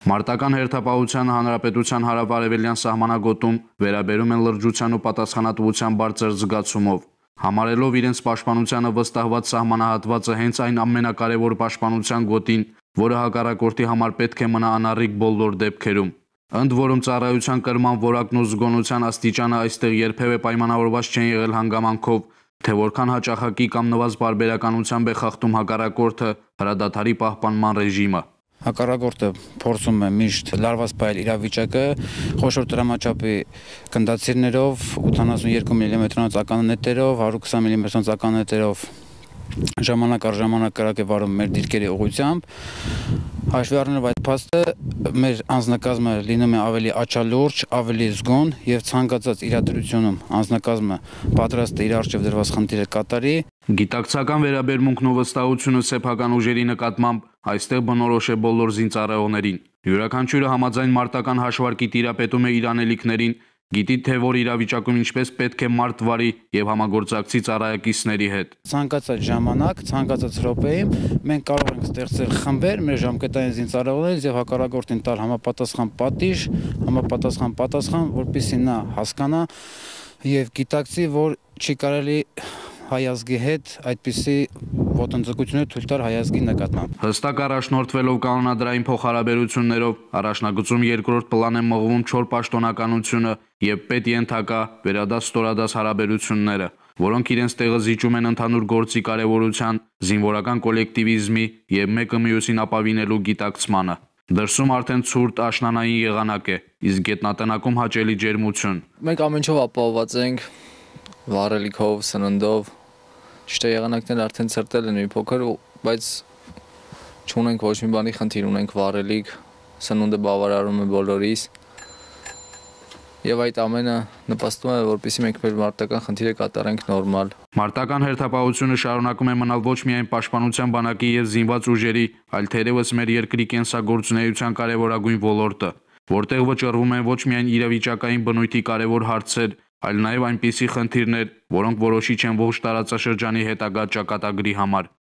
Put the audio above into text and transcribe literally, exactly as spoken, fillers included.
Մարտական հերթապահության հանրապետության հարավ-արևելյան սահմանագոտում վերաբերում են լրջության ու պատասխանատվության բարձր զգացումով, համարելով իրենց պաշտպանությանը վստահված սահմանահատվածը հենց այն ամենակարևոր պաշտպանության գոտին, որը հակառակորդի համար պետք է մնա անառիկ բոլոր դեպքերում։ Ընդ որում ծառայության կրման որակն ու զգոնության աստիճանը այստեղ երբևէ պայմանավորված չեն եղել հանգամանքով, թե որքան հաճախակի կամ նվազ պարբերականությամբ է խախտում հակառակորդը հրադադարի պահպանման ռեժիմը։ Հակառակորդը փորձում է միշտ լարված պահել իրավիճակը, խոշոր տրամաչափի գնդացիրներով, ութանասունյոթ միլիմետրանոց ականանետերով, հարյուր քսան միլիմետրանոց ականանետերով ժամանակ առ ժամանակ կրակ է վարում մեր դիրքերի ուղղությամբ։ Հաշվի առնելով այդ փաստը, մեր անձնակազմը լինում է ավելի աչալուրջ, ավելի զգոն եւ ցանկացած իրադրությունում անձնակազմը պատրաստ է իր առջև դրված խնդիրը կատարի։ Գիտակցական վերաբերմունքն ու վստահությունը սեփական ուժերի նկատմամբ այստեղ բնորոշ է բոլոր զինծառայողներին։ Յուրաքանչյուրը համաձայն մարտական հաշվարկի տիրապետում է իր անելիքներին, գիտի թե որ իրավիճակում ինչպես պետք է մարդ վարի եւ համագործակցի ծառայակիցների հետ։ Ցանկացած ժամանակ, ցանկացած րոպեին մենք կարող ենք ստեղծել խմբեր մեր ժամկետային զինծառայողներից եւ հակառակորդին տալ համապատասխան պատիժ, համապատասխան պատասխան, որպեսզի նա հասկանա եւ գիտակցի, որ չի կարելի հայ ազգի հետ այդպիսի ոտնձգություններ թույլ տալ հայ ազգի նկատմամբ։ Հստակ առաջնորդվելով կանոնադրային փոխհարաբերություններով առաջնագծում երկրորդ պլան է մղվում չոր պաշտոնականությունը եւ պետ-ենթակա վերադաս-ստորադաս հարաբերությունները, որոնք իրենց տեղը զիջում են ընդհանուր գործի կարևորության, զինվորական կոլեկտիվիզմի եւ մեկը մյուսին ապավինելու գիտակցմանը։ Դրսում արդեն ցուրտ աշնանային եղանակ է, իսկ գետնատնակում հաճելի ջերմություն։ Մենք ամեն ինչով ապահովված ենք, վառելիքով, սննդով, ճիշտ է եղանակները արդեն ցրտել են մի փոքր, բայց չունենք ոչ մի բանի խնդիր, ունենք վառելիք, սնունդը բավարարում է բոլորիս։ Եվ այդ ամենը նպաստում է, որպեսզի մենք մեր մարտական խնդիրը կատարենք նորմալ։ Մարտական հերթապահությունը շարունակում է մնալ ոչ միայն պաշտպանության բանակի եւ զինված ուժերի, այլ թերևս մեր երկրի կենսագործունեության կարևորագույն ոլորտը, որտեղ վճռվում են ոչ միայն իրավիճակային բնույթի կարևոր հարցեր, այլ նաեւ այնպիսի խնդիրներ, որոնք որոշիչ են ողջ տարածաշրջանի հետագա ճակատագրի համար։